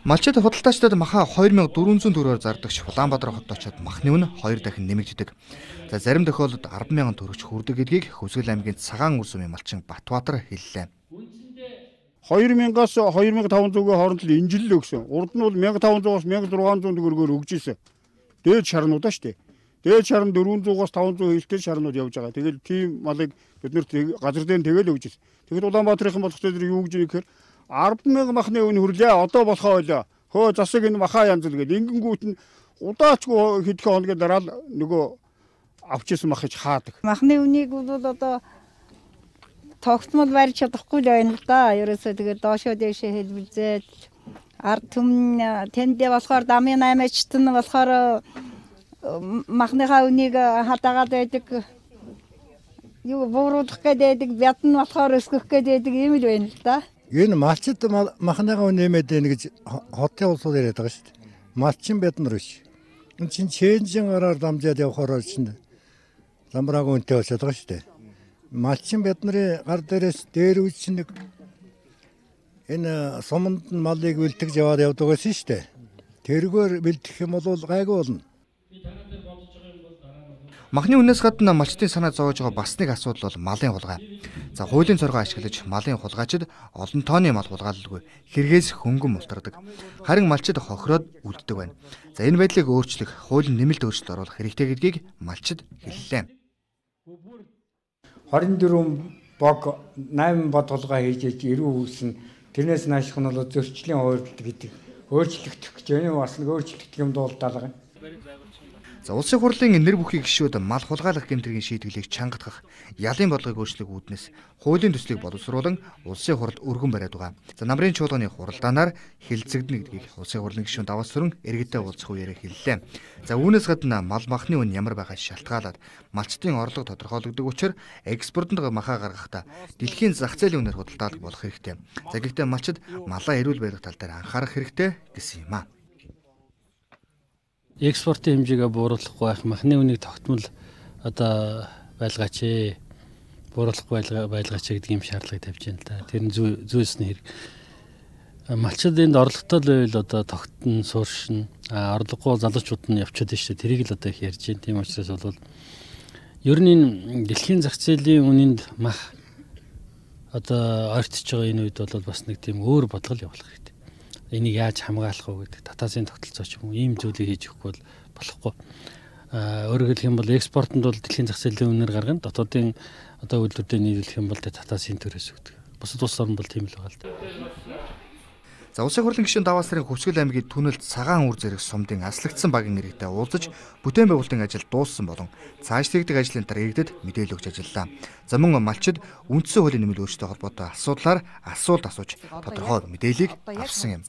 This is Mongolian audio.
Малчид худалдаачдад маха 2400 төгрөгөөр зардагч Улаанбаатар хотод очиод махны үнэ 2 дахин нэмэгддэг. За зарим тохиолдолд 10,000 төгрөгч хүрдэг гэдгийг Хүсгэл аймгийн Цагаан үр сумын малчин Батбаатар хэллээ. 2000-аас 2500-гийн хооронд л энэ жил л өгсөн. Урд нь бол 1500-аас 1600 төгрөгөөр өгж ирсэн. Дээд шарнуудаа шүү дээ. Дээд шарн 400-аас 500 хэлтэй шарнууд явж байгаа. Тэгэл тийм малыг бид нэр газар дээр тэгэл өгж ирсэн. Тэгэхэд Улаанбаатарын болох дээр юу гэж нэгэхээр 10,000 махны үн хүрлээ. Одоо болохоо ойлоо. Хөө засаг энэ маха янз л гээд ингэнгүүт нь удаачгүй хэдхэн хоногийн дараа л нөгөө авчихсан мах гэж хаадаг. Махны үнийг бол одоо тогтмол барьж чадахгүй л байна л да. Ерөөсөө тэгээд доошоо дэшээ хэлбэлзээд ард түмэн тэндээ болохоор дамын 8-ачт нь болохоор махныхаа үнийг хадаагаад байдаг. Юу бууруулах гэдэг бяд нь болохоор өсгөх гэдэг юм л байна л да. Энэ малчид махныхаа нэмээд байна гэж хотын улсууд яриад байгаа шүү дээ. Малчин бяднар биш. Энэ чинь чэнжин гараар дамжаад явахаар чинь замбраагүй үнэтэй болчиход байгаа шүү дээ. Малчин бяднарын гар дээрээс дээр үуч нэг энэ суманд нь малыг бэлтгэж яваад явдаг байсан шүү дээ. Тэргээр бэлтгэх юм бол гайгүй болно. Махны үнээс гадна малчдын санаа зовоож байгаа бас нэг асуудал бол малын хулгай. За хуулийн цоргоо ашиглаж малын хулгайчид олон тооны мал хулгайлалгүй хэрэгээс хөнгөн мултардаг. Харин малчид хохироод үлддэг байна. За энэ байдлыг өөрчлөх, хуулийн нэмэлт өөрчлөлт оруулах хэрэгтэй гэдгийг малчид хэллээ. 24 бог 8 бодголгоо хийж 90 үүснэ. Тэрнээс нааших нь бол зөрчлийн хувьд гэдэг өөрчлөгдөх гэж байна. Бас нэг өөрчлөгдөх юм дуулдаалга. За улсын хурлын нэр бүхий гишүүд мал хулгайлах гэмтрийн шийдвэрлийг чангатгах, ялын бодлогыг өөрчлөх үүднээс хуулийн төслийг боловсруулан улсын хурлд өргөн бариад байгаа. За намрын чуулганы хуралдаанаар хилцэгдэнэ гэдгийг улсын хурлын гишүүн Даваас Сүрэн иргэдэд уулзах үеэр хэллээ. За үүнээс гадна мал махны үн ямар байгааг шалтгаалаад малчдын орлого тодорхойлогддог учраас экспортод махаа гаргахдаа дэлхийн зах зээлийн үнээр худалдаалах болох хэрэгтэй. За гэхдээ малчид малаа эрүүл барих тал дээр анхаарах хэрэгтэй гэсэн юм аа. Экспортын хэмжээгээ бууруулахгүй байх, махны үнийг тогтмол одоо байлгаач ээ. Бууруулахгүй байлгаач гэдэг юм шаардлага тавьж байна л да. Тэр нь зүйсний хэрэг. Малчид энд орлоготой л байвал одоо тогтно, сууршин, орлогогүй залуучууд нь явчихад шүү дээ. Тэрийг л одоо их ярьж байна. Тийм учраас бол ер нь энэ дэлхийн зах зээлийн үнэнд мах одоо ойртож байгаа энэ үед бол бас нэг тийм өөр бодлого явуулах хэрэгтэй. Энийг яаж хамгаалах вэ гэдэг татаасын тогтолцоо ч юм уу ийм зүйлийг хийж өгөхгүй бол болохгүй. Өөрөөр хэлэх юм бол экспортод бол дэлхийн зах зээлийн үнээр гаргана. Дотоодын одоо үйлдвэртэй нийлүүлэх юм бол татаасын төрөөс өгдөг. Бусад улс орн бол тийм л байгаа л да. За улсын хурлын гишүүн Даваас Сүрэн Хүсгэл аймгийн түнэлт Цагаан үр зэрэг сумдын аслагдсан багийн иргэдэд уулзаж бүтээн байгуулалтын ажил дууссан болон цаашлагддаг ажлын дараа иргэдэд мэдээлэл өгч ажиллаа. За мөн малчид үндсэн хуулийн нэмэлт өөрчлөлттэй холбоотой асуудлаар асуулт асууж тодорхой мэдээллийг авсан юм.